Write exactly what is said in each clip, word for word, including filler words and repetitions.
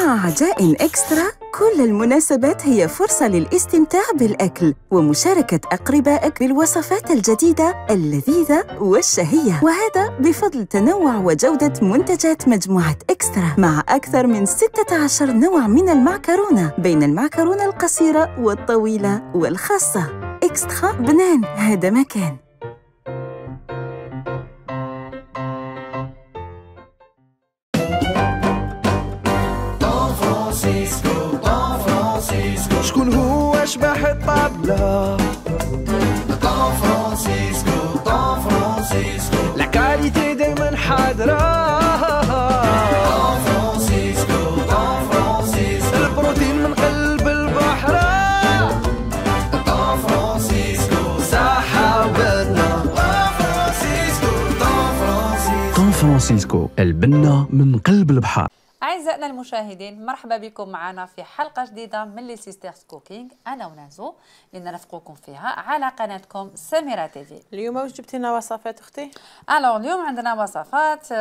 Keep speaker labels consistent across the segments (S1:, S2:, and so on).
S1: مع عجائن إكسترا كل المناسبات هي فرصة للاستمتاع بالأكل ومشاركة أقربائك بالوصفات الجديدة اللذيذة والشهية، وهذا بفضل تنوع وجودة منتجات مجموعة إكسترا مع أكثر من ستة عشر نوع من المعكرونة بين المعكرونة القصيرة والطويلة والخاصة. إكسترا بنان هذا مكان.
S2: شكون هو شبح الطابلة؟ طون فرانسيسكو طون فرانسيسكو لا كاليتي دايما حاضرة. طون فرانسيسكو طون فرانسيسكو البروتين من قلب البحر. طون فرانسيسكو صحة وبنة. طون فرانسيسكو طون فرانسيسكو
S3: طون فرانسيسكو البنة من قلب البحر.
S4: أعزائنا المشاهدين، مرحبا بكم معنا في حلقة جديدة من لي سيسترز كوكينغ، أنا ونازو اللي نرافقكم فيها على قناتكم سميرة تيفي.
S5: اليوم واش جبتي لنا وصفات أختي؟
S4: ألوغ اليوم عندنا وصفات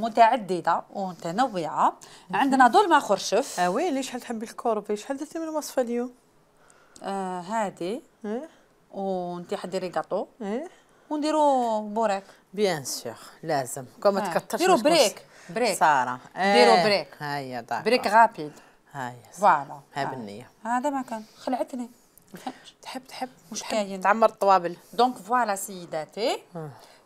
S4: متعددة ومتنوعة. عندنا دولمة خرشف.
S5: اه وي، ليش شحال تحبي الكوربي؟ شحال درتي من الوصفة اليوم؟
S4: آه هادي.
S5: ايه
S4: وانتي حديري كاطو.
S5: ايه
S4: ونديرو بوريك.
S5: بيان سور لازم كون ما تكترش.
S4: ديرو بريك بريك
S5: سارة.
S4: ديرو بريك.
S5: هيا داك
S4: بريك رابيد.
S5: هيا
S4: فوالا
S5: ها بالنية.
S4: هذا ما كان خلعتني. ما فهمتش.
S5: تحب تحب
S4: مش كاين
S5: تعمر الطوابل.
S4: دونك فوالا سيداتي.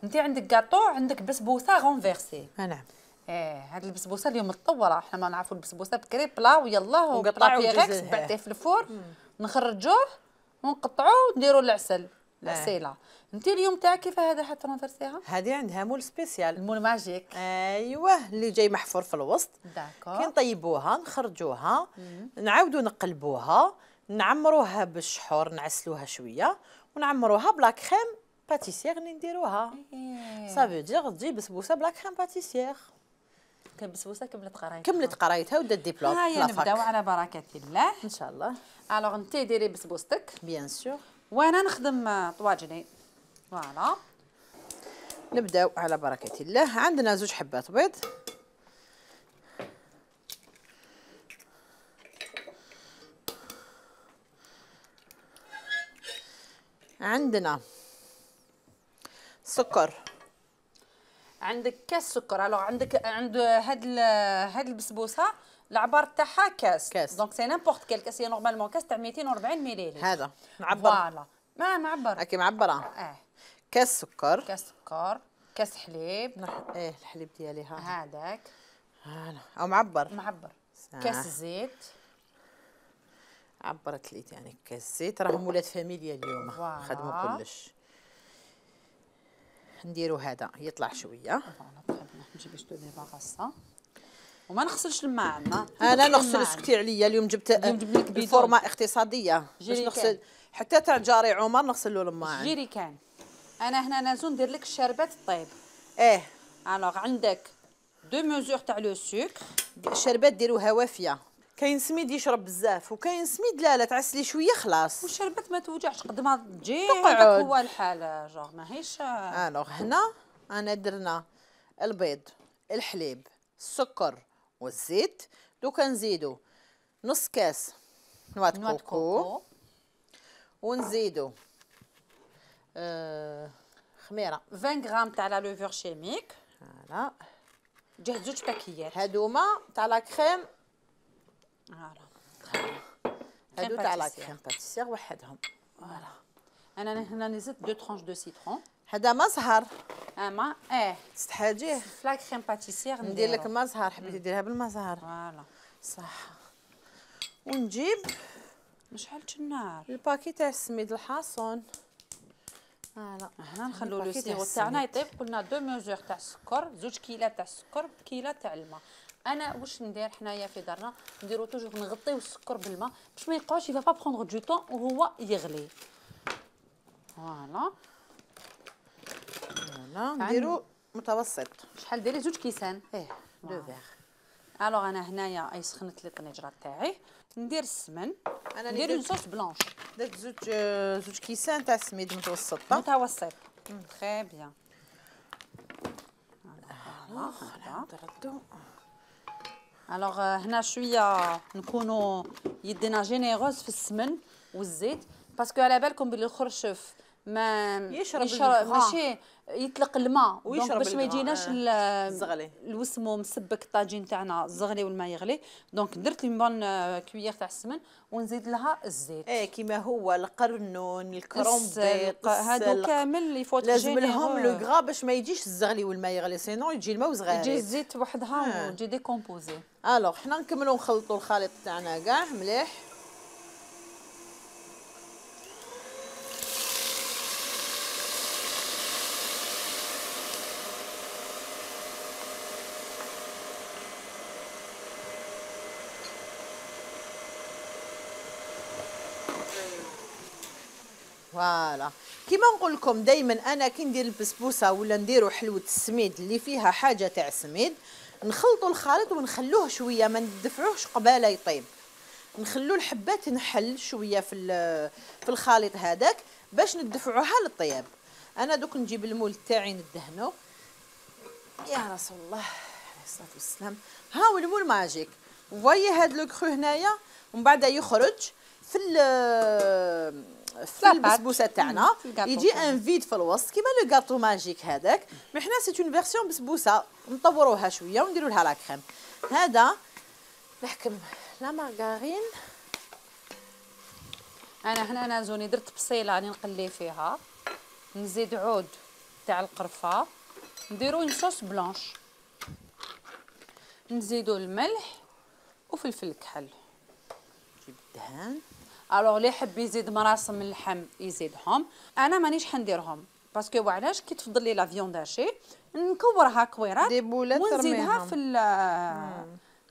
S4: انت عندك كاطو، عندك بسبوسه غونفيرسي.
S5: نعم.
S4: ايه هاد البسبوسه اليوم متطوره، احنا ما نعرفوا البسبوسه بكري بلا ويلا
S5: ونقطعوا
S4: وقطع بيغكس
S5: الجزء.
S4: بعديه في الفور نخرجوه ونقطعوه ونديروا العسل العسيله. انت اليوم تاعك كيف هذا حترونفيرسيها؟
S5: هذه عندها مول سبيسيال.
S4: المول ماجيك.
S5: ايوه اللي جاي محفور في الوسط.
S4: داكور.
S5: كي نطيبوها نخرجوها نعاودو نقلبوها نعمروها بالشحور نعسلوها شويه ونعمروها بلا كريم باتيسير اللي نديروها. صافي دير تجي بسبوسه بلا كريم باتيسير.
S4: كان بسبوسه كملت قرايتها.
S5: كملت قرايتها ودات ديبلوم.
S4: هيا نبداو على بركه الله
S5: ان شاء الله.
S4: الوغ انت ديري بسبوستك
S5: بيان سور
S4: وانا نخدم طواجني. فوالا
S5: نبداو على بركه الله. عندنا زوج حبات بيض، عندنا سكر،
S4: عندك كاس سكر. الوغ عندك عند هاد هاد البسبوسه العبار تاعها كاس
S5: كاس.
S4: دونك سي نيمبورط كيل كاس. هي نورمالمون كاس تاع مئتين وأربعين مليلتر.
S5: هذا نعبر.
S4: فوالا ما معبر
S5: هاكي معبره.
S4: اه
S5: كاس سكر،
S4: كاس سكر، كاس حليب.
S5: نح... ايه الحليب ديالي ها
S4: هذاك
S5: هذا او معبر
S4: معبر.
S5: آه.
S4: كاس زيت.
S5: عبرت لي يعني كاس زيت. راهم ولاد فاميليا اليوم
S4: فوالا.
S5: خدموا كلش. نديرو هذا يطلع شويه.
S4: فوالا نجيب شتو ديباغاسا وما نغسلش الماء عندنا.
S5: انا نغسل سكتي عليا اليوم جبت
S4: اليوم جبت لك بيدون.
S5: الفورمه اقتصاديه باش
S4: جيريكان.
S5: نغسل حتى تاع جاري عمر نغسل له الماء.
S4: جيري كان. انا هنا نازو ندير لك الشربات الطيب.
S5: ايه
S4: الوغ عندك دو ميزور تاع لو سكر.
S5: الشربات ديروها وافيه. كاين سميد يشرب بزاف وكاين سميد لا لا تعسلي شويه خلاص.
S4: والشربات ما توجعش قد ما تجي
S5: تقعد.
S4: هذاك هو الحال جوغ ماهيش.
S5: الوغ هنا انا درنا البيض الحليب السكر والزيت. دوكا نزيدو نص كاس نواه
S4: نواد
S5: كوكو
S4: كوكو.
S5: ونزيدو آه خميره
S4: عشرين غرام تاع لا لوفور شيميك.
S5: فوالا.
S4: جهد زوج باكيات.
S5: هادوما تاع لا كريم.
S4: فوالا
S5: هادو تاع لا كريم باتيسير وحدهم. فوالا.
S4: انا هنا نزيد دو ترونش دو سيترون.
S5: هذا ما زهر.
S4: اما اه
S5: تستحاجيه.
S4: فلا كريم باتيسير
S5: ندير لك ما زهر. حبيتي ديرها بالما زهر.
S4: فوالا
S5: صح. ونجيب
S4: ما شعلتش النار.
S5: الباكي تاع السميد الحاصون. فوالا.
S4: هنا نخلو لو سيرو تاعنا يطيب. قلنا دو ميزور تاع السكر، زوج كيلات تاع السكر بكيله تاع الماء. انا واش ندير حنايا في دارنا نديرو توجور نغطيو السكر بالماء باش ما يبقاوش يفا با بروندر دو طون وهو يغلي. فوالا
S5: فوالا نديرو متوسط.
S4: شحال ديري؟ زوج كيسان.
S5: ايه دو فيغ.
S4: الوغ انا هنايا اي سخنت لي الطنجره تاعي. ندير السمن.
S5: انا
S4: ندير اون صوص بلانش.
S5: درت زوج زوج كيسان تاع السميد متوسطه.
S4: متوسط. تري بيان.
S5: فوالا نردو.
S4: الوغ هنا شويه نكونوا يدينا جينيروز في السمن والزيت باسكو على بالكم بلي الخرشف ما
S5: يشرب,
S4: يشرب ماشي يطلق الماء دونك باش ما يجيناش
S5: الزغلي
S4: الوسمو مسبك الطاجين تاعنا الزغلي والماء يغلي دونك درت لي بون كويير تاع السمن ونزيد لها الزيت
S5: ايه كيما هو القرنون الكرومبيط
S4: هادو كامل يفوت
S5: لازم لهم لو غرا باش ما يجيش الزغلي والماء يغلي سينو يجي الماء وصغير
S4: يجي الزيت وحدها وتجي ديكومبوزي.
S5: الوغ حنا نكملوا نخلطوا الخليط تاعنا كاع مليح. فوالا كيما نقول لكم دائما انا كي ندير البسبوسه ولا نديروا حلوه السميد اللي فيها حاجه تاع سميد نخلطوا الخليط ونخلوه شويه ما ندفعوهش قباله يطيب نخلو الحبات نحل شويه في في الخليط هذاك باش ندفعوها للطياب. انا دوك نجيب المول تاعي ندهنو يا رسول الله عليه الصلاه والسلام. ها هو المول ماجيك فوايي هاد لو كرو هنايا ومن بعد يخرج في في البسبوسه تاعنا يجي ان فيد في الوسط كيما لو غاتو ماجيك هذاك. مي حنا سي اون فيرسيون بسبوسه نطوروها شويه ونديروا لها لا كريم. هذا نحكم لا مارغارين.
S4: انا هنا نازوني درت بصيله راني نقلي فيها نزيد عود تاع القرفه نديرو اون صوص بلانش نزيدو الملح وفلفل كحل
S5: نجيب الدهان.
S4: الوغ اللي يحب يزيد مراسم اللحم يزيدهم انا مانيش حنديرهم باسكو علاش كي تفضل لي لا فيوند هاشي نكورها كويرات ونزيدها في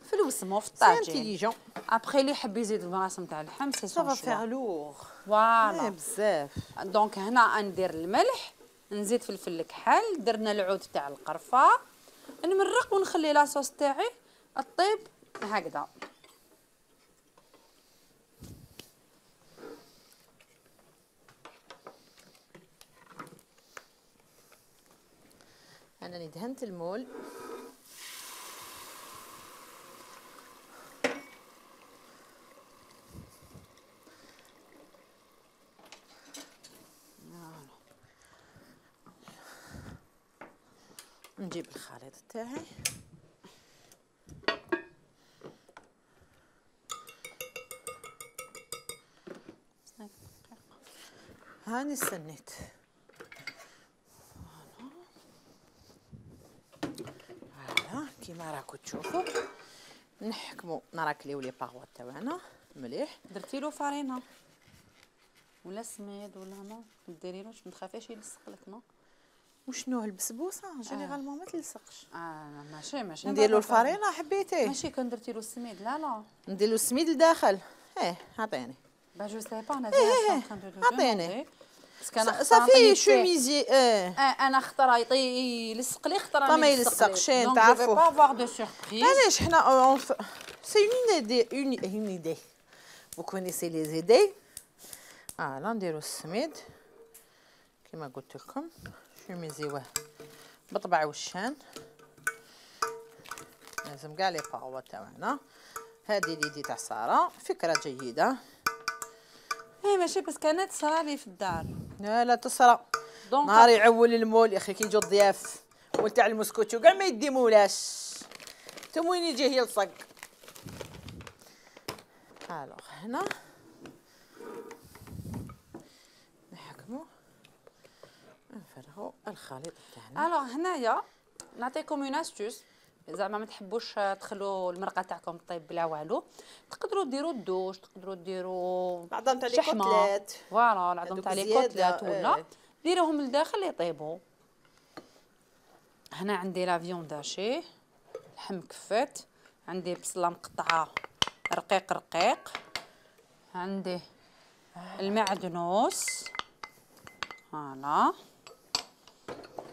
S4: في الوسمو في الطاجين.
S5: سي انتيليجون.
S4: ابخي اللي يحب يزيد المراسم تاع اللحم سي سون شوا.
S5: سافا فيغ لوغ.
S4: فوالا
S5: بزاف.
S4: دونك هنا ندير الملح نزيد فلفل كحل درنا العود تاع القرفه نمرق ونخلي لاصوص تاعي الطيب هكذا.
S5: أنا دهنت المول نجيب الخليط تاعي هاني استنيت كيما راكم تشوفوا نحكموا نراكليو لي باغوا تاعنا مليح.
S4: درتي له فرينه ولا سميد ولا ما ديريلوش ما تخافيش يلصق لك نو.
S5: وشنو البسبوسه جينيرالمون ما تلصقش.
S4: اه ماشي ماشي
S5: ندير له الفرينه حبيتيه
S4: ماشي كون درتي له السميد لا لا
S5: ندير له السميد لداخل. ايه عطيني
S4: با جو سي با انا
S5: عطيني
S4: باسكو انا
S5: صافي شوميزي. ايه
S4: انا خطره يلصق لي خطره
S5: ما يلصقش تعرفوا
S4: با افوار دو سوربريز.
S5: علاش حنا سي اون ايدي اون ايدي vous connaissez les idées. فوالا نديرو السميد كيما قلت لكم شوميزيوه بطبع وشان لازم كاع لي باغوا تاعنا. هذه ليدي تاع ساره فكره جيده.
S4: ايه ماشي بس كانت صرالي في الدار.
S5: لا لا تصرى نهار يعول المول يا اخي كي يجوا الضياف مول تاع المسكوتشو كاع ما يديمولاش انتم وين يجي يلصق. الوغ هنا نحكمو نفرغو الخليط تاعنا.
S4: الوغ هنايا نعطيكم اون استوس زعما ما تحبوش تخلوا المرقه تاعكم طيب بلا والو تقدروا ديروا الدوش تقدروا ديروا
S5: العظم تاع لي كوتلات.
S4: فوالا العظم تاع لي كوتلات ولا
S5: ايه.
S4: ديروهم لداخل يطيبوا. هنا عندي لا فيوند هاشي لحم كفات عندي بصله مقطعه رقيق رقيق عندي المعدنوس فوالا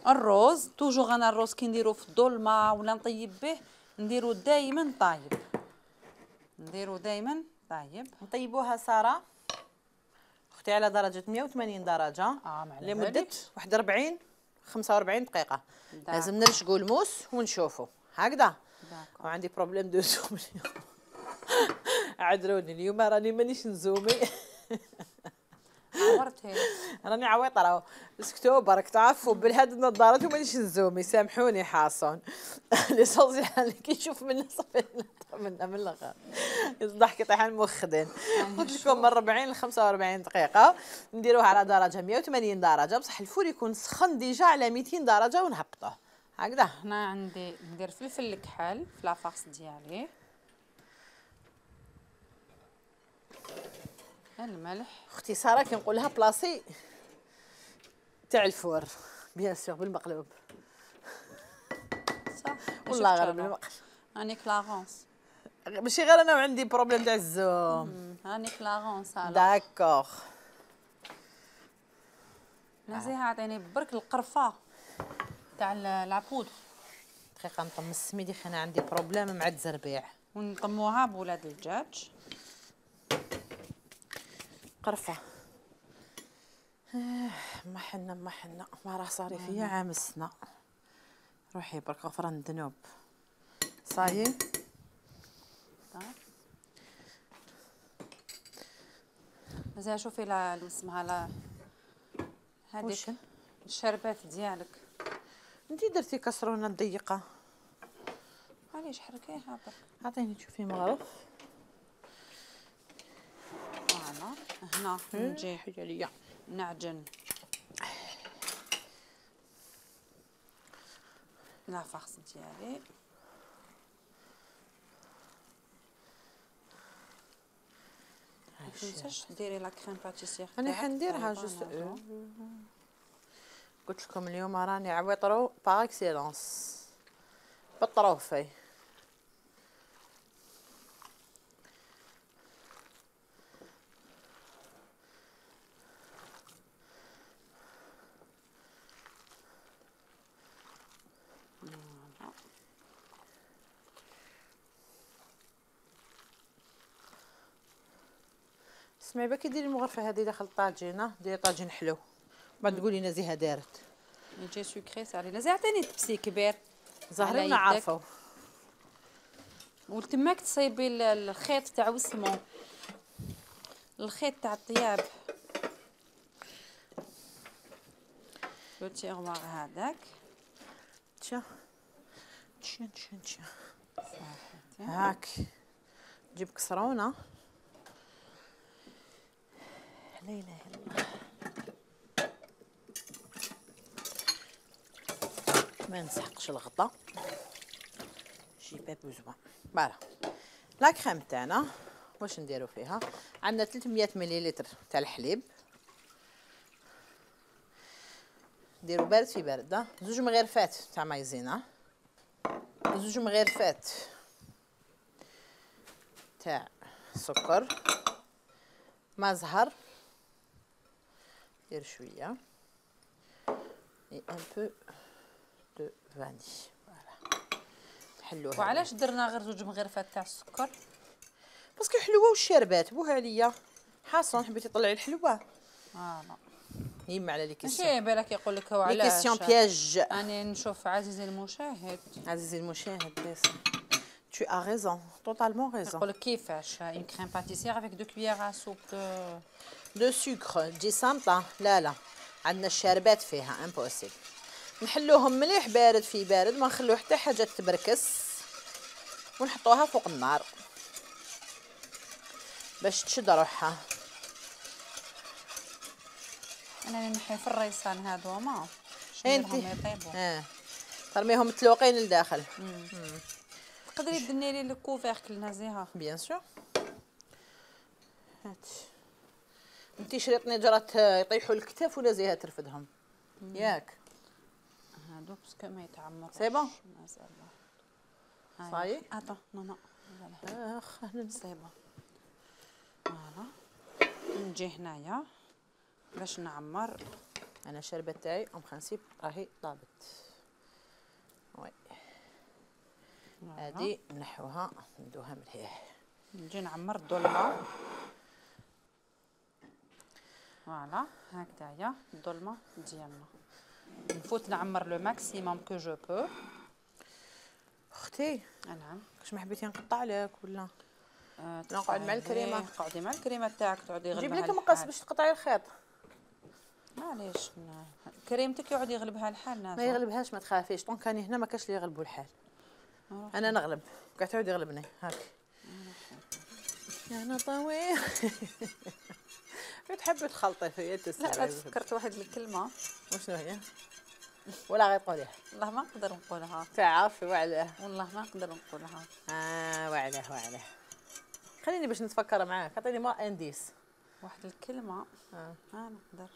S4: الروز توجور. انا الروز كي نديرو في الظلمه ولا نطيب به نديرو دائما طايب نديرو دائما طايب.
S5: نطيبوها ساره اختي على درجه مية وثمانين درجه
S4: اه
S5: لمده واحد وأربعين خمسة وأربعين دقيقه. لازم نرشقوا الموس ونشوفوا هكذا وعندي بروبليم دو زوم اليوم. عذروني اليوم راني مانيش نزومي.
S4: عورتي
S5: راني عويطه راهو اسكتوا برك تعرفوا بالهاد النظارات ومانيش نزومي سامحوني حاصون. ليسونسيال كي نشوف من صافي من من الاخر الضحك يطيح المخدن. قلت لكم من أربعين ل خمسة وأربعين دقيقه نديروها على درجه مية وثمانين درجه بصح الفول يكون سخن ديجا على ميتين درجه ونهبطوه هكذا.
S4: هنا عندي ندير فلفل الكحل في لافاص ديالي، الملح.
S5: اختي ساره كنقول لها بلاصي تاع الفور بيان سور بالمقلوب.
S4: صح
S5: والله غير بالمقلوب.
S4: هاني كلاغونس
S5: ماشي غير انا وعندي بروبليم تاع الزوم.
S4: هاني كلاغونس هلا
S5: داكوغ.
S4: نزيها عطيني برك القرفه تاع العبود.
S5: دقيقه نطم السميدي خي انا عندي بروبليم مع الزربيع
S4: ونطموها بولاد الدجاج.
S5: قرفه ما حنا ما حنا ما راه صاري فيا عام السنه. روحي برك غفران الذنوب صايي.
S4: زين شوفي لا اسمها لا هذيك الشربات ديالك.
S5: انتي درتي كسرونه ضيقه
S4: علاش حركيها برك.
S5: عطيني تشوفي مغرف.
S4: فوالا هنا نجي
S5: حاجه ليا
S4: نعجن لافاص ديالي. ما تنساش ديري لا كريم باتيسير.
S5: انا حنديرها جوست. قلت لكم اليوم راني عويطرو باغ اكسيلونس بالطروفي. اسمعي باكي ديري المغرفه هذه داخل الطاجينه ديري طاجين حلو بعد تقولي نزيها دارت
S4: يجي سكري صاري زي عطيني تبسي كبير
S5: زهري ما عارفه.
S4: وتماك تصيبي الخيط تاع وسمو الخيط تاع الطياب بوتي غوار هذاك
S5: تشا تشا تشا تشا هاك جيب كسرونه. لا اله الا الله ما نسحقش الغطا. جي با بوزوان فوالا. لا كريم تاعنا واش نديرو فيها؟ عندنا ثلاثمية مليلتر تاع الحليب نديرو بارد في بارد. زوج مغرفات تاع مايزينا زوج مغرفات تاع سكر ما زهر دير شويه اي ان بو دو فاني فوالا نحلوها.
S4: وعلاش درنا غير زوج مغرفات تاع السكر؟
S5: باسكو حلوه والشربات بوها عليا حاصون حبيتي تطلعي الحلوه.
S4: اه لا
S5: يما على لي كيسيون
S4: ماشي بالك يقول لك هو
S5: لي
S4: علاش
S5: كيسيون بياج.
S4: انا نشوف عزيزي المشاهد
S5: عزيزي المشاهد بس tu as raison totalement raison.
S4: يقول لك كيفاش اون كريم باتيسير افيك دو كويير ا سوب دو
S5: دو سكر تجي صامته. لا لا عندنا الشربات فيها امبوسيبل. نحلوهم مليح بارد في بارد ما نخلو حتى حاجه تبركس ونحطوها فوق النار باش تشد روحها.
S4: انا نحي في الريسان هادو ما
S5: انتي
S4: يطيبوا.
S5: اه ترميهم متلوقين لداخل.
S4: تقدري دني لي الكوفيركل نزيها
S5: بيان سور. هات انتي شريط نجرات يطيحوا الكتاف ولا زيها ترفدهم ياك
S4: هادو باسكو ما يتعمروش.
S5: سي بون
S4: مازال
S5: صاي
S4: اتو نو نو
S5: اخ
S4: سي بون. فوالا نجي هنايا باش نعمر.
S5: انا الشربه تاعي ام برانسيب راهي طابت. وي هادي نحوها ندوها مليح.
S4: نجي نعمر الظلمه. فوالا هكذايا الظلمه ديالنا نفوت نعمر لو ماكسيموم كو جو بو.
S5: اختي
S4: نعم.
S5: واش ما حبيتي نقطع لك ولا
S4: آه
S5: نقعد مع الكريمه؟
S4: قعدي مع الكريمه تاعك تعودي
S5: نجيب
S4: يغلبها
S5: لك مقص باش تقطعي الخيط.
S4: معليش كريمتك يقعد يغلبها الحال ناس.
S5: ما يغلبهاش ما تخافيش، طون كاني هنا ما كاش اللي يغلبوا الحال. انا نغلب قاعد تعود يغلبني هاك. انا طويل. تحبي تخلطي فيا تسمعي.
S4: لا لا تفكرت واحد الكلمه.
S5: وشنو هي؟ ولا غير تقوليها؟
S4: والله ما نقدر نقولها.
S5: تعرفي وعلاه؟
S4: والله ما نقدر نقولها.
S5: اه وعلاه وعلاه. خليني باش نتفكر معاك، عطيني ما انديس.
S4: واحد الكلمه
S5: اه
S4: ما نقدر.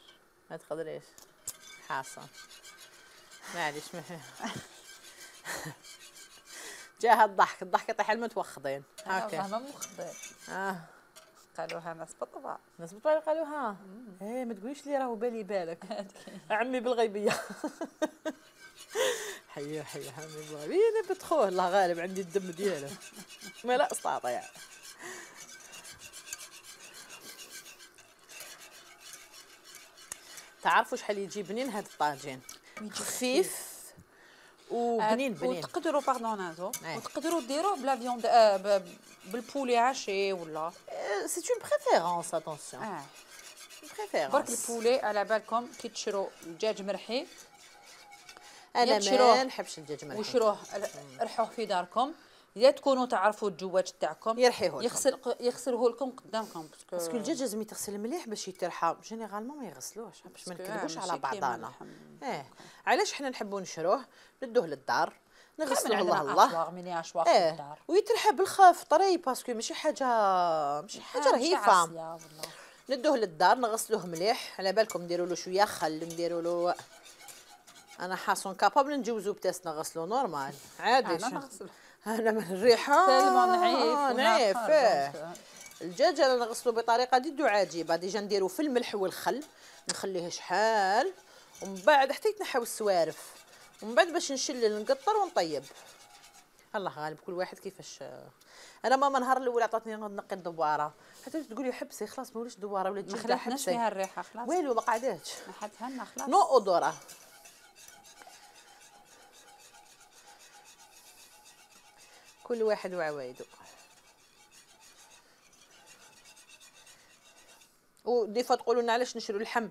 S5: ما تقدريش. حاصل. معليش ما جاها الضحك، الضحك يطيح المتوخضين.
S4: هكا والله ما مخبر.
S5: اه
S4: قالوها ناس بالطبع.
S5: ناس بالطبع قالوها. ايه ما تقوليش لي راهو بالي بالك. عمي بالغيبيه. حيا حيا عمي بالغيبيه نبت خوه الله غالب عندي الدم دياله. ما لا استطيع. تعرفوا شحال يجي بنين هذا الطاجين؟ خفيف وبنين بنين.
S4: وتقدروا باردون نازو وتقدروا ديروه بلا فيوند آه بالبولي عاشي ولا
S5: سي اون بريفيرونس اتونسيون.
S4: اه
S5: بريفيرونس.
S4: برك البولي على بالكم كي تشرو دجاج مرحي.
S5: انا ما نحبش الدجاج مرحي.
S4: وشروه رحوه في داركم يا تكونوا تعرفوا الجواج تاعكم
S5: يرحيوه
S4: يغسل يغسلوه لكم قدامكم
S5: باسكو الدجاج لازم يتغسل مليح باش يترحى. جينيرالمون ما يغسلوش باش ما نكذبوش على بعضانا. اه علاش حنا نحبوا نشروه ندوه للدار نغسلوه الله الله
S4: ميني اشواق
S5: اه
S4: للدار
S5: ويترحى بالخف طري باسكو ماشي حاجه ماشي حاجه رهيفه. ندوه للدار نغسلوه مليح. على بالكم نديروا له شويه خل نديروا له. انا حاسون كابابل نجوزو بتاس نغسلو نورمال عادي.
S4: انا نغسل
S5: انا من الريحه
S4: تالمون نعيف
S5: نعيف. الدجاج انا نغسلو بطريقه ديدو عجيبه. ديجا نديرو في الملح والخل نخليه شحال ومن بعد حتى يتنحاو السوارف ومن بعد باش نشلل نقطر ونطيب. الله غالب كل واحد كيفاش. انا ماما نهار الاول عطاتني نقي الدواره حتى تقولي حبسي خلاص ما وليش دواره ولات جلده حبسي.
S4: ما خلاتناش فيها الريحه خلاص
S5: والو ما قعداتش.
S4: ما حدها لنا خلاص.
S5: نو اودورا. كل واحد وعوايدو. ودي فوا تقولوا لنا علاش نشرو اللحم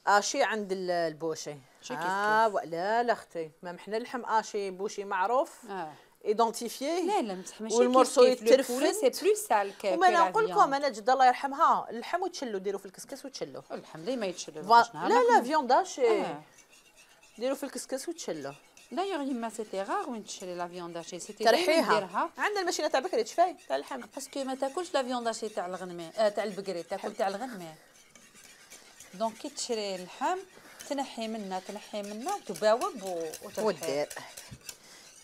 S5: اشي عند البوشي. اه ولا لا اختي ما حنا اللحم اشي بوشي معروف
S4: اه
S5: ايدونتيفييه.
S4: لا لا ماشي
S5: والمرسو يترفل
S4: سي بلو سال كو
S5: وما انا نقول لكم انا جد الله يرحمها اللحم وتشلو ديروا في الكسكس وتشلو.
S4: اللحم ليه ما يتشلو.
S5: لا لا فيونداشي ديروا في الكسكس وتشلو.
S4: دايوغ يما سيتي غار وين تشري لا فيونداشي سيتي
S5: ترحيها. عندنا الماشينه تاع بكري تشفاي تاع اللحم
S4: باسكو ما تاكلش لا فيونداشي تاع الغنمي آه تاع البقري تاكل تاع الغنمي. دونك كي تشري اللحم تنحي منها تنحي منها وتباوب وترحي.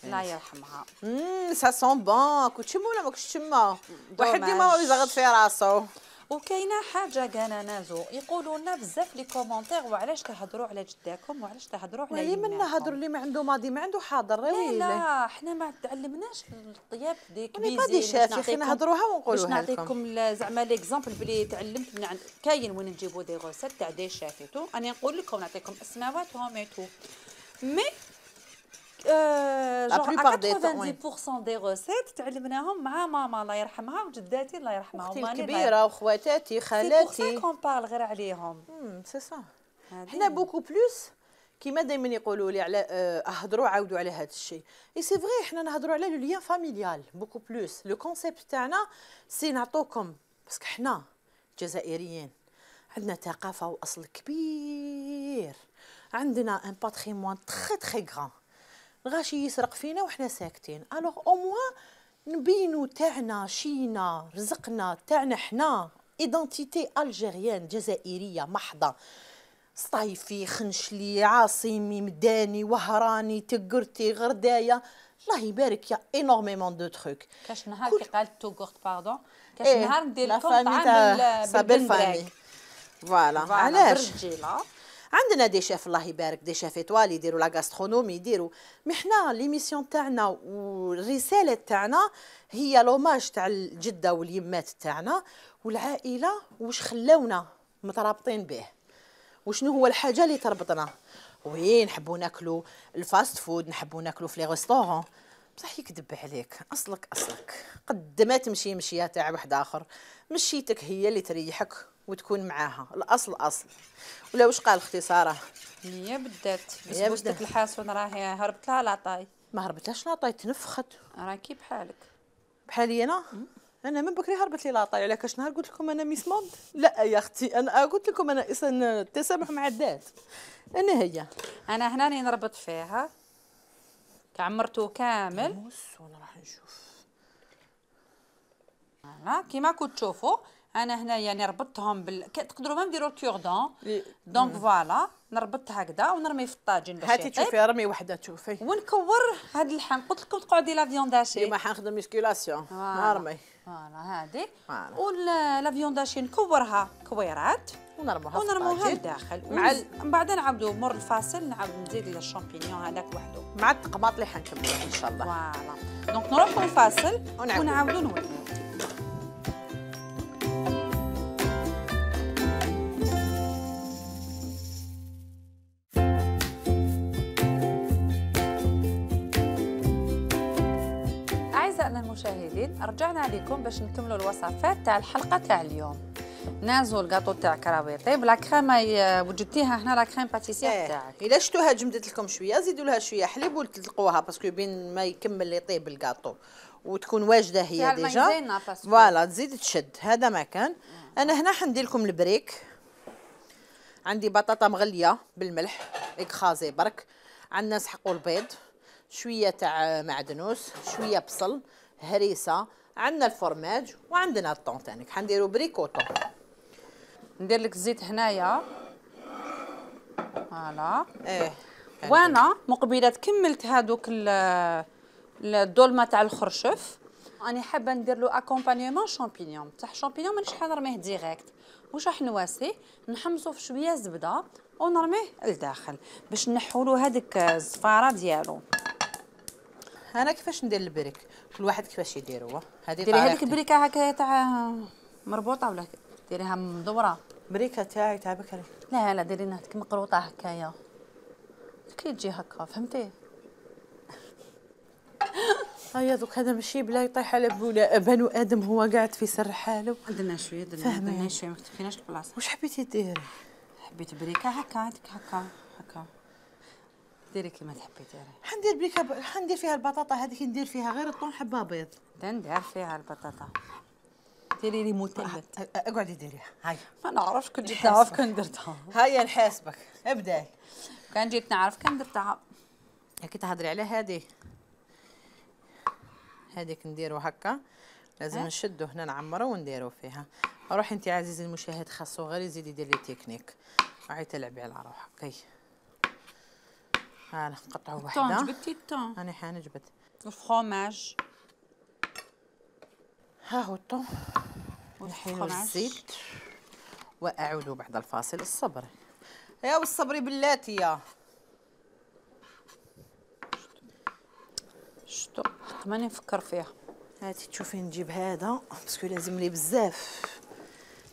S4: الله يرحمها.
S5: امم سا سون بون كنت تشمو ولا ما كنتش تشمو؟ واحد ديما يزغط في راسو.
S4: وكاينه حاجه كانا نازو يقولوا لنا بزاف لي كومونتير وعلاش تهضروا على جداكم وعلاش تهضروا على
S5: يماكم. اللي منا هضروا اللي ما عنده ماضي ما عنده حاضر.
S4: لا لا حنا ما تعلمناش الطياب دي
S5: كبيزين. ما شافي خلينا نهضروها ونقولوها لكم.
S4: باش نعطيكم زعما ليكزامبل بلي تعلمت من عند كاين وين نجيبوا دي غوسيت تاع دي شافيتو. انا نقول لكم نعطيكم اسماواتهم ايتو مي لا بلوبار دي ثمانين بالمية دي غوسيت تعلمناهم مع ماما الله يرحمها وجداتي الله يرحمها
S5: وماني الكبيره وخواتاتي خالاتي.
S4: سي بور سا كون بارل غير عليهم.
S5: امم سي سا. حنا بوكو بلوس كيما دائما يقولوا لي على اهضروا عاودوا على هذا الشيء. اي سي فري حنا نهضروا على لو ليان فاميليال بوكو بلوس. لو كونسيبت تاعنا سي نعطوكم باسكو حنا جزائريين عندنا ثقافه واصل كبير. عندنا ان باتريمون تري تري غران. الغاشي يسرق فينا وحنا ساكتين. الوغ او موان نبينو تاعنا شينا رزقنا تاعنا حنا ايدونتيتي الجيريان جزائريه محضه. صيفي خنشلي عاصمي مداني وهراني تقرتي غردايه الله يبارك يا انورميمون دو تروك.
S4: كاش نهار كي قالت توغورت باردون كاش نهار ندير لكم
S5: طعام بالبندراك. فوالا علاش عندنا دي شيف الله يبارك دي شيف ايطوالي يديروا لا غاسترونومي يديروا. مي حنا ليميسيون تاعنا والرساله تاعنا هي لوماج تاع الجده واليمات تاعنا والعائله واش خلاونا مترابطين به. وشنو هو الحاجه اللي تربطنا. وين نحبوا ناكلوا الفاست فود نحبوا ناكلوا في لي ريستورون بصح يكذب عليك، اصلك اصلك قد ما تمشي مشيه تاع واحد اخر، مشيتك هي اللي تريحك وتكون معاها، الاصل اصل. ولا واش قال اختي ساره؟
S4: هي بدات بس
S5: هي
S4: بوستك
S5: بدات.
S4: الحاسون راهي هربت لها لاطاي.
S5: ما هربتلاش لاطاي، تنفخت
S4: راكي بحالك.
S5: بحالي انا. انا من بكري هربت لي لاطاي، على كاش نهار قلت لكم انا ميس موند. لا يا اختي انا قلت لكم انا انسان التسامح مع الذات. انا هي
S4: انا هنا راني نربط فيها كعمرتو كامل.
S5: موس وانا راح نشوف.
S4: فوالا كيما راكم تشوفوا انا هنايا نربطهم بال ك- تقدروا ما نديروا الكوردون.
S5: لي-
S4: دونك فوالا نربط هكذا ونرمي في الطاجين باش
S5: هاتي
S4: يطيب
S5: تشوفي رمي وحده تشوفي.
S4: ونكور هاد اللحم. قلت لكم تقعدي لا فيونداشي.
S5: اليوم حنخدم ميسكيلاسيون.
S4: فوالا.
S5: نرمي
S4: فوالا هادي
S5: فوالا.
S4: ولا فيونداشي نكورها كويرات
S5: ونرموها
S4: ونرموها
S5: في
S4: لداخل.
S5: مع
S4: ونز- من بعد نعاودو مور الفاصل نعاود نزيد الشامبينيون هذاك وحده.
S5: مع التقباط اللي حنكملوا ان شاء الله.
S4: فوالا دونك نروحو الفاصل
S5: ونعاودو.
S4: ونعاودو نوليو. أعزائنا المشاهدين رجعنا لكم باش نكملوا الوصفات تاع الحلقة تاع اليوم. نازو الكاطو تاع كراوي يطيب. لا كريم وجدتيها هنا لا كريم باتيسير
S5: ايه
S4: تاعك.
S5: الا شفتوها جمدت لكم شويه زيدوا لها شويه حليب وتلقوها باسكو بين ما يكمل يطيب الكاطو وتكون واجده
S4: فيها
S5: هي
S4: الماء
S5: ديجا.
S4: زينة باسكو.
S5: فوالا تزيد تشد. هذا ما كان. انا هنا حندير لكم البريك. عندي بطاطا مغليه بالملح اكخازي برك. عندنا نسحقوا البيض، شويه تاع معدنوس، شويه بصل، هريسه، عندنا الفرماج وعندنا الطون تانيك. حنديروا بريك وطون.
S4: ندير لك الزيت هنايا. فوالا.
S5: ايه
S4: وانا مقبله كملت هذوك ال- الدولمه تاع الخرشف. راني حابه ندير له اكومبانيمون شامبينيون. بصح شامبينيون مانيش حنرميه ديريكت. واش راح نواسيه نحمصو في شويه زبده ونرميه لداخل باش نحوا له هذيك الزفاره ديالو.
S5: انا كيفاش ندير البريك؟ كل واحد كيفاش يديروه. هذه
S4: ديري هذيك
S5: طريقتي.
S4: البريكه هكا تاع مربوطه ولا ديريها مدوره؟
S5: بريكه تاعي تاع بكري.
S4: لا لا ديري هكا مقروطه هكايا كي تجي هكا فهمتي.
S5: هيا دوك هذا ماشي بلا يطيح على بولا بنو ادم هو قاعد في سر حاله.
S4: عندنا شويه درنا
S5: فهمي.
S4: درنا شويه ما كتفيناش البلاصه.
S5: واش حبيتي ديري؟
S4: حبيت بريكه هكا هذيك هكا هكا ديري كيما تحبي ديري.
S5: حندير بريكه ب... حندير فيها البطاطا هذيك ندير فيها غير الطون حبه بيض.
S4: ندير فيها البطاطا. ديري لي مثلث.
S5: أ- اقعدي ديريها. هاي
S4: ما نعرفش كنت جيت نعرف كان درتها.
S5: هيا نحاسبك. ابداي.
S4: كان جيت نعرف كان درتها.
S5: كي تهضري على هذه هذيك نديرو هكا. لازم نشدو هنا نعمرو ونديرو فيها. روحي انت عزيزي المشاهد خاصو غير يزيد يدير لي تكنيك. راهي تلعبي على روحك. كي ها نقطعو
S4: الطون
S5: وحده.
S4: جبتي الطون.
S5: انا حان جبت.
S4: الفرomage.
S5: ها هو الطون. نحيلو الزيت واعود بعد الفاصل. الصبر يا والصبري بلاتي يا
S4: شتو ماني نفكر فيها.
S5: هاتي تشوفي نجيب هذا باسكو لازم لي بزاف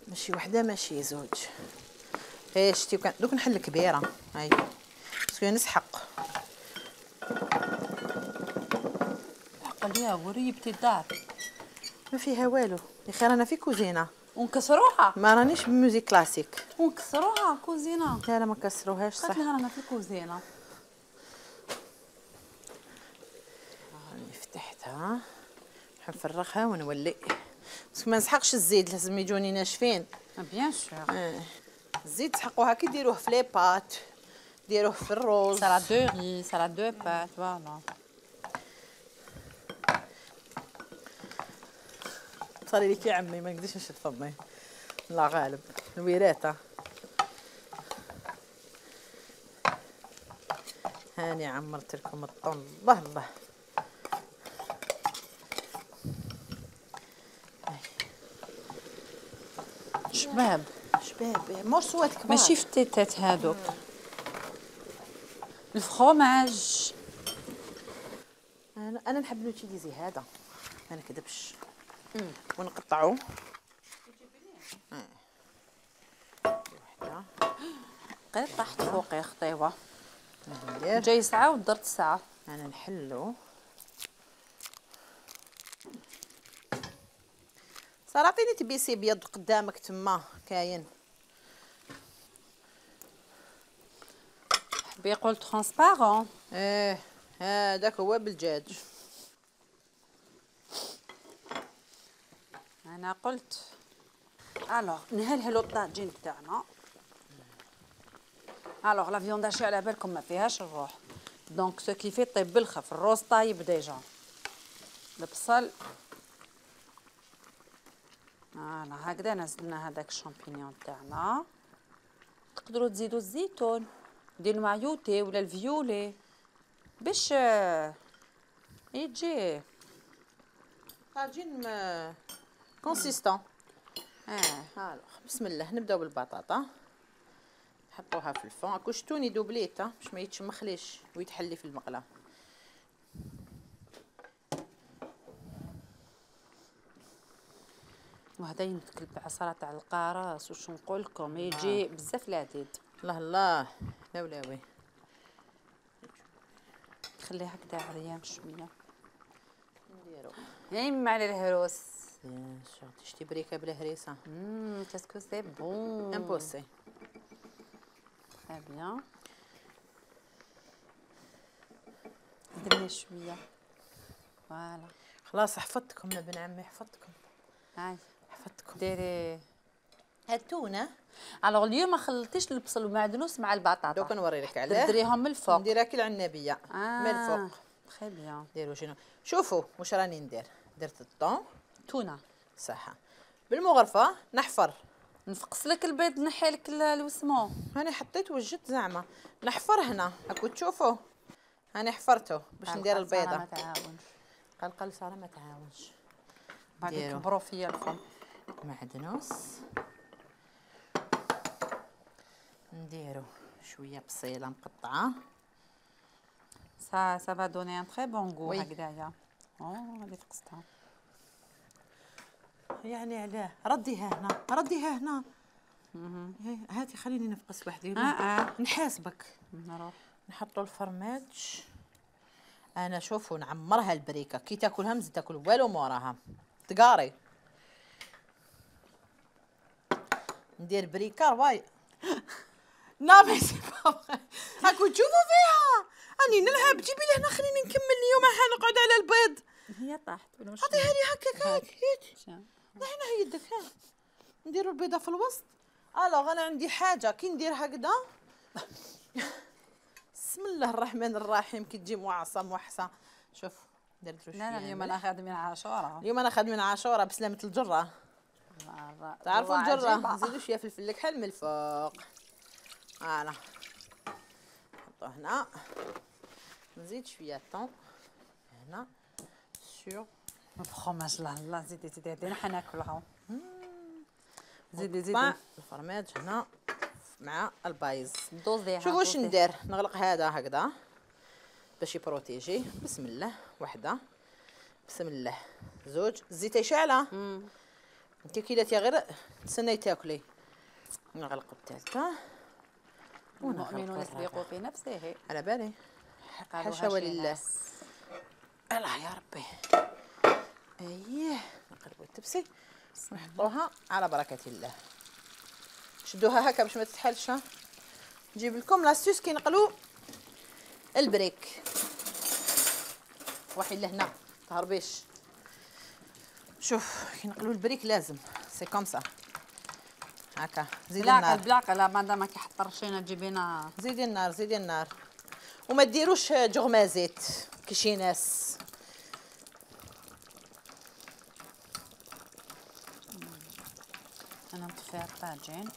S5: ماشي وحده ماشي زوج. ايه شتي كان دوك نحل كبيره. هاي باسكو نسحق.
S4: حق ليها وريبتي الدار
S5: ما فيها والو يا خير. انا في كوزينه
S4: ونكسروها
S5: ما رانيش بموزيك كلاسيك.
S4: ونكسروها كوزينه.
S5: لا لا ما كسروهاش صح.
S4: قالت لها رانا في الكوزينه.
S5: راني فتحتها حنفرغها ونولي باسكو ما نسحقش الزيت لازم يجوني ناشفين.
S4: بيان سور.
S5: اه الزيت تسحقوها كي ديروه في لي بات ديروه في الروز.
S4: سالاد دو ري سالاد دو بات فوالا.
S5: صاري لك يا عمي ما نقدرش نشد فمي. الله غالب الويراته. هاني عمرت لكم الطن. الله الله.
S4: شباب
S5: شباب مو صوات كبار.
S4: ماشي فتيتات هادوك. الفرomage.
S5: انا انا نحب نوتيليزي هذا ما نكذبش. ونقطعو وحده.
S4: قيت طاحت فوقي خطيبه.
S5: ندير
S4: جاي ساعه ودرت ساعه.
S5: انا نحلو صار عطيني تبيسي بيض قدامك تما كاين.
S4: حبي يقول ترونسبارون.
S5: ايه هذاك هو بالدجاج.
S4: انا قلت الوغ نهلهلو الطاجين تاعنا. الوغ لا فيوند هاشي على بالكم ما فيهاش الروح، دونك سو كي في طيب بالخف. الروز طايب ديجا، البصل فوالا هكذا. نزلنا هذاك الشامبينيون تاعنا. تقدروا تزيدوا الزيتون ديال المعيوتي ولا الفيولي باش يجي
S5: طاجين كونسيستون.
S4: اه.
S5: الوغ بسم الله نبداو بالبطاطا. نحطوها في الفون. هاكو شتوني دوبليت باش ما يتشمخليش ويتحلي في المقله.
S4: وهذا يمكن بعصره تاع القراص واش نقول لكم يجي بزاف لذيذ.
S5: الله الله لا ولاوي.
S4: خليها هكذا عريان شويه.
S5: نديرو
S4: يما على الهروس.
S5: بيان سور. تشتي بريكه بلا هريسه.
S4: امم كاسكو سي بون
S5: امبوسي.
S4: تري بيان. درنا شويه فوالا.
S5: خلاص حفظتكم يا بن عمي حفظتكم.
S4: هاي
S5: حفظتكم.
S4: ديري
S5: التونه.
S4: الوغ اليوم ما خلطتيش البصل والمعدنوس مع البطاطا.
S5: دوك نوريلك علاه.
S4: تدريهم من الفوق.
S5: نديرها كي العنابيه
S4: آه.
S5: من الفوق.
S4: تري بيان.
S5: ديروا شنو شوفوا واش راني ندير. درت الطون
S4: تونه
S5: صحه بالمغرفه نحفر.
S4: نفقس لك البيض نحي لك الوسمو.
S5: هاني حطيت وجدت زعما نحفر هنا هاكو تشوفوا. هاني حفرته باش ندير البيضه.
S4: ما تعاونش.
S5: قلقل ساره ما تعاونش.
S4: بعد
S5: ديرو.
S4: كبروا فيا الفم.
S5: معدنوس. نديرو شويه بصيله مقطعه.
S4: سا سا فا دوني ان تري بون غو
S5: وي.
S4: هكذايا. او هذه فقستها.
S5: يعني علاه رديها هنا رديها هنا. اها هاتي خليني نفقس وحدي.
S4: اه اه
S5: نحاسبك.
S4: نروح.
S5: نحطوا الفرماج. انا شوفوا نعمرها البريكه كي تاكلها مزيد تاكل والو موراها تقاري. ندير بريكه رواي. لا مي سي با هاكو تشوفوا فيها راني نلعب. جيبي لهنا خليني نكمل اليوم حنقعد على البيض.
S4: هي طاحت ولا واش؟
S5: عطيها لي هكاك هاك هيك.
S4: شا.
S5: هنا يدك ها. نديروا البيضه في الوسط. الوغ انا عندي حاجه كي ندير هكذا. بسم الله الرحمن الرحيم كي تجي موعصه موحصه. شوف درت له
S4: لا لا اليوم انا خادمين عاشوره.
S5: اليوم انا خادمين عاشوره بسلامه الجره. تعرفوا الجره نزيدوا شويه فلفل الكحل من الفوق. فوالا نحطوه هنا. نزيد شويه طون هنا سور
S4: الفرماج. لا لا زيدي زيدي هذه حناكلها. زيدي زيدي
S5: الفرماج هنا مع البايز.
S4: دوز ديالها.
S5: شوفوا واش ندير. نغلق هذا هكذا باش يبروتيجي. بسم الله وحده. بسم الله زوج. الزيت شاعله. انت كي درتي غير تسناي تاكلي. نغلق الثالثه.
S4: المؤمن يسبق في نفسه.
S5: على بالي. حاشا ولله. الله يا ربي. اييه نقلبوا التبسي ونحطوها على بركه الله. شدوها هكا باش ما تتحلش. نجيب لكم لاستيس كي نقلوا البريك. وحي لهنا تهربيش. شوف كي نقلوا البريك لازم سي كوم سا هكا. زيدي النار.
S4: بالعقل لا مادام كي حطرشينا تجيبينا.
S5: زيدي النار زيدي النار وما ديروش جغمازات كي شي ناس.
S4: انا نطفي الطاجين.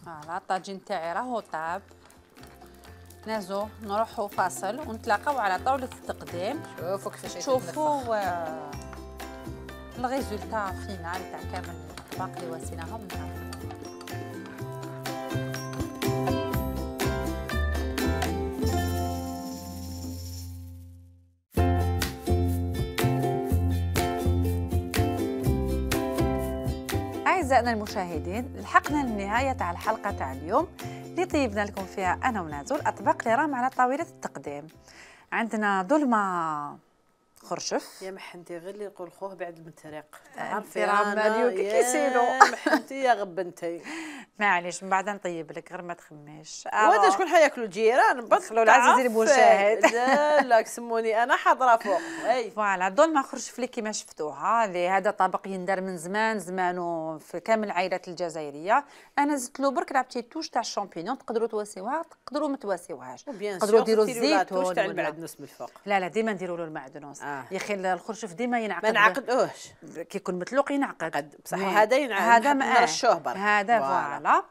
S4: فوالا الطاجين تاعي راهو طاب. نازو نروحو فاصل ونتلاقاو على طاولة التقديم.
S5: شوفوا كيفاش
S4: شوفوا آه الريزولتا فينال تاع كامل الطباق اللي واسيناهم معاهم. أعزائنا المشاهدين لحقنا للنهاية تاع الحلقة تاع اليوم اللي طيبنا لكم فيها أنا ونازو الأطباق اللي راهم على طاولة التقديم. عندنا دولمة خرشف.
S5: يا محنتي غير اللي يقول خوه بعد المتريق.
S4: عرفتي راه ماليو كي كيسيلو.
S5: محنتي يا غبنتي.
S4: معليش من بعد نطيب لك غير ما تخميش.
S5: وهذا شكون حياكلوا الجيران؟
S4: دخلوا العزيزي المشاهد.
S5: لا لا سموني انا حاضره فوق. اي
S4: فوالا دول ما خرجف لك كيما شفتوها، اللي هذا طبق يندار من زمان زمانو في كامل العائلات الجزائريه. انا زدت له برك لعبتي توش تاع الشامبينيون، تقدروا تواسيوها تقدروا ما تواسيوهاش،
S5: تقدروا
S4: ديروا الزيتون
S5: تاع المعدنوس من الفوق.
S4: لا لا ديما نديروا له المعدنوس. آه. يا اخي الخرشف ديما ينعقد،
S5: ما نعقدوهش
S4: كي يكون متلوق ينعقد
S5: بصح هذا ينعقد،
S4: هذا
S5: نرشوه برك
S4: هذا فوالا.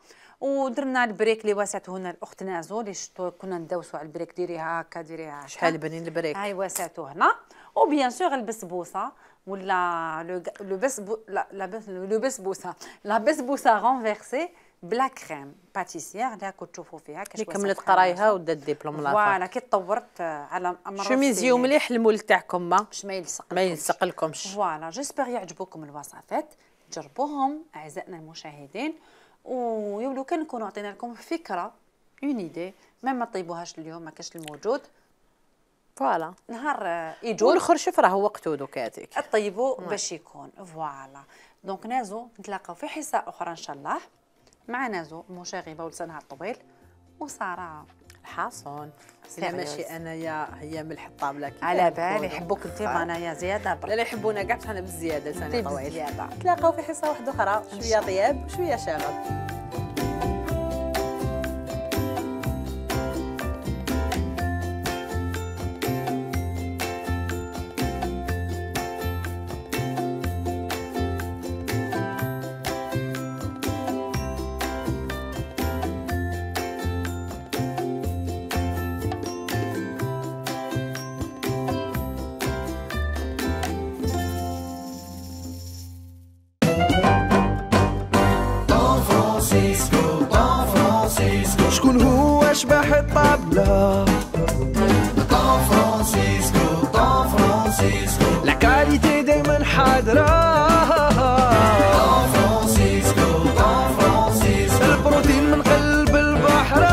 S4: ودرنا البريك اللي واسعته هنا الاخت نازو، اللي شفتو كنا ندوسوا على البريك، ديريها هكا ديريها هكا
S5: شحال بنين البريك.
S4: هاي واسعته هنا. وبيان سور البسبوسه ولا لو بسبو لا لو بسبوسه لا بسبوسه رونفيرسي بلا كريم باتيسيير اللي راكم تشوفوا فيها
S5: كاش كملت قرايها ودات ديبلوم لافا.
S4: فوالا كي تطورت على امر
S5: شميزيو مليح المول تاعكم ما
S4: باش ما يلصق
S5: ما يلصق لكمش.
S4: فوالا جيسبر يعجبوكم الوصفات، جربوهم اعزائنا المشاهدين، ويولو كان نكونوا عطينا لكم فكره اون ايدي، ما ما طيبوهاش اليوم ما كاش الموجود.
S5: فوالا
S4: نهار يجوا
S5: والخرشف راه وقته دوكاتيك
S4: طيبوا باش يكون. فوالا دونك نازو نتلاقاو في حصه اخرى ان شاء الله مع نازو المشاغبه ولسانها الطويل وساره
S5: الحاصون. لا ماشي انايا هي ملح الطابله
S4: على بالي يحبوك انت وانايا زياده برك.
S5: لا يحبونا كاع حنا بالزياده لساني طويل.
S4: بالزياده.
S5: نتلاقاو في حصه واحده اخرى، شويه طياب وشويه شغب.
S2: شكون هو شبح الطابلة؟ طون فرانسيسكو طون فرانسيسكو لا كاليتي دايما حاضرة. طون فرانسيسكو طون فرانسيسكو البروتين من قلب البحر.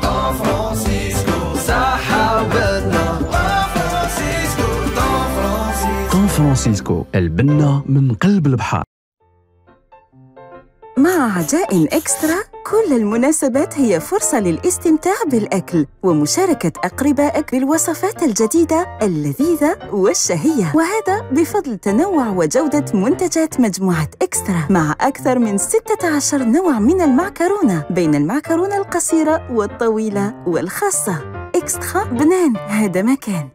S2: طون فرانسيسكو صحة وبنة. طون فرانسيسكو طون فرانسيسكو
S3: طون فرانسيسكو البنة من قلب البحر.
S1: مع عجائن إكسترا كل المناسبات هي فرصة للاستمتاع بالأكل ومشاركة أقربائك بالوصفات الجديدة اللذيذة والشهية، وهذا بفضل تنوع وجودة منتجات مجموعة إكسترا مع أكثر من ستة عشر نوع من المعكرونة بين المعكرونة القصيرة والطويلة والخاصة. إكسترا بنان هذا مكان.